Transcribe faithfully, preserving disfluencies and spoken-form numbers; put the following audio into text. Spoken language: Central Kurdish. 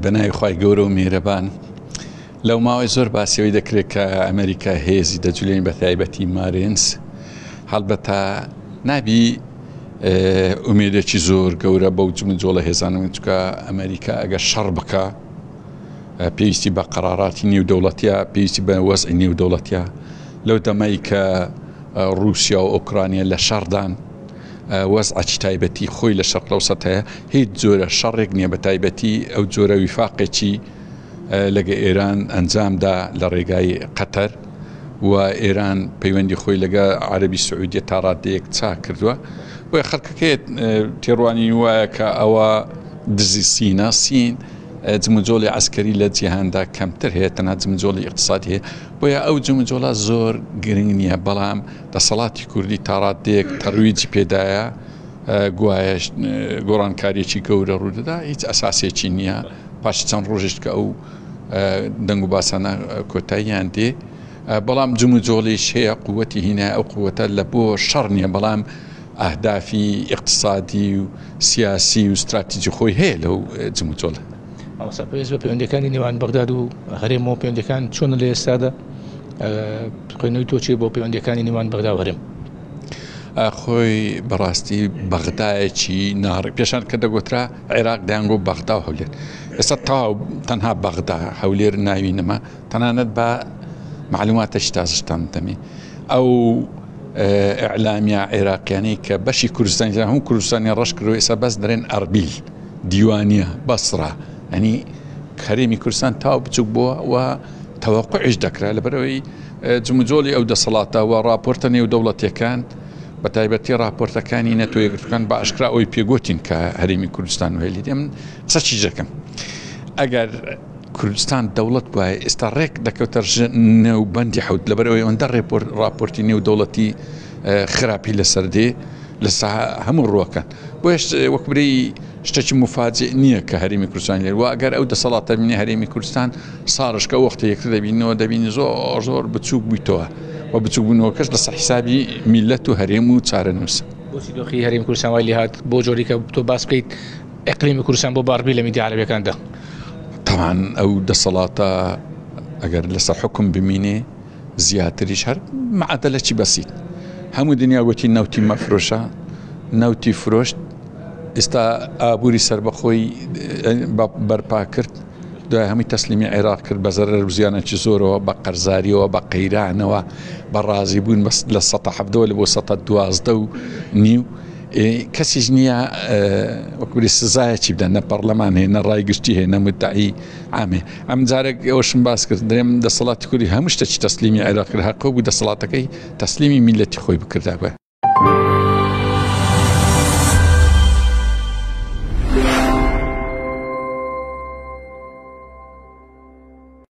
بە ناوی خوای گەورە و میهرەبان. لەو ماوەی زۆر باسیەوەی دەکرێت کە ئەمریکا هێزی دەجولێن بە تایبەتی مارینس، هەڵبەتە نابی ئومێدێکی زۆر گەورە بەو جموجۆڵە هێزانە، چونکە ئەمریکا ئەگەر شەڕ بکە پێویستی بە قەراراتی نێودەوڵەتیە، پێویستی بە وەزعی نێودەوڵەتیە. لەو دەمەی کە رووسیا و ئۆکرانیا لە شەڕدان، وەزعێکی تایبەتی خۆی لە شەرق لەوسەت هەیە، هیچ جۆرە شەڕێک نییە، بە تایبەتی ئەو جۆرە ویفاقێکی لەگە ئێران ئەنجامدا لە ڕێگای قەتەر و ئێران پەیوەندی خۆی لەگە عەربی سعودیە تا ڕادەیەک چاک کردووە. بۆیە خەڵکەکەی تێڕوانین وایە کە ئەوە دزی سینە، سین جموجۆڵی عەسکەری لە جیهاندا کەمتر هەیە، تەنها جموجۆڵی ئیقتصادی هەیە. بۆیە ئەو جموجۆڵە زۆر گرنگ نییە، بەڵام دەسەڵاتی کوردی تا ڕادەیەک تەرویجی پێدایە، گوایە گۆڕانکاریەکی گەورە ڕوودەدا، هیچ ئەساسێکی نییە. پاش چەند ڕۆژێک کە ئەو دەنگ و باسانە کۆتاییان دێ، بەڵام جموجۆڵیش هەیە، قووەتی هینای ئەو قووەتە لە بۆ شەڕ نییە، بەڵام ئەهدافی ئیقتصادی و سیاسی و استراتیجی خۆی هەیە لەو جموجۆڵە. مامۆستا پێویست بە پەیوەندیەکانی نێوان بەغداد و هەرێم و پەیوەندیەکان چۆنە لە ئێستادا؟ خوێندنەوەی تۆ چییە بۆ پەیوەندیەکانی نێوان بەغدا و هەرێم؟ خۆی بەڕاستی بەغدایەکی ناڕێ، پێشان کە دەگوترا عێراق دەیانگۆ بەغدا و هەولێر، ئێستا تەواو تەنها بەغدا هەولێر ناوی نەما. تەنانەت بە معلوماتەش تازشتان دەمێ ئەو ئیعلامیە عێراقیانەی کە بەشی کوردستانی هەموو کوردستانی ڕەش کردووە، ئێستا بەس دەرێن ئەربیل، دیوانیە، بەسرە، ینی هەرێمی کوردستان تاو بچوک بووە و تەوەقعیش دەکرا لەبەرەوەی جموجۆڵی ئەو دەسەڵاتە و راپۆرتە نێودەوڵەتیەکان، بە تایبەتی راپۆرتەکانی نەتەوە یەکگرتووەکان بە ئاشکرا ئەوەی پێگوتین کە هەرێمی کوردستان و هێلی. من قسە چی دەکەم؟ ئەگەر کوردستان دەوڵەت بوایە ئێستا ڕێک دەکەوتە نێوبەندی حەوت، لەبەرئەوەی ئەوەندە راپۆرتی نێودەوڵەتی خراپی لەسەر دێ لە هەموو ڕووەکان. بۆیە وەک برێی شتێکی مفاجئ نییە کە هەرێمی کوردستان لێر، و ئەگەر ئەو دەسەڵاتە بینی هەرێمی کوردستان ساڕشکە وەختە یەکتر دەبینەوە، دەبینی زۆر زۆر بچووک بوویتەوە و بچووک بوونەوەکەش لەسەر حیسابی میلەت و هەرێم و چارەنووس. بۆچی دۆخی هەرێمی کوردستان وای لێهات بۆ جۆری کە تۆ باس بکەیت ئیقلیمی کوردستان بۆ باڕبی لە میدیا عەرەبیەکاندا؟ طبعا ئەو دەسەڵاتە ئەگەر لەسەر حکم بمینێ زیاتریش هەر معادلەکی بەسیت. هەموو دنیا گوتی نەوتی مەفرۆشە، نەوتی فرۆشت، ئێستا ئابووری سەربەخۆی بەرپا کرد، دوای هەمووی تەسلیمی عێراق کرد بە زەرەر و زیانێکی زۆرەوە، بە قەرزاریەوە، بە قەیرانەوە، بە ڕازی بوون لە سەتا حەفتەوە لە بۆ سەتا دوازدە و نیو. کەسیش نییە وەکوری سزایەکی بدەن، نە پەرلەمان هەیە، نە ڕای گشتی هەیە، نە مدعی عامێ. ئەم جارێک ئەوەشم باس کرد، درێم دەسەڵاتی کوردی هەموو شتێکی تەسلیمی عێراق کرد، هەقۆ بوو دەسەڵاتەکەی تەسلیمی میلەتی خۆی بکردابێ.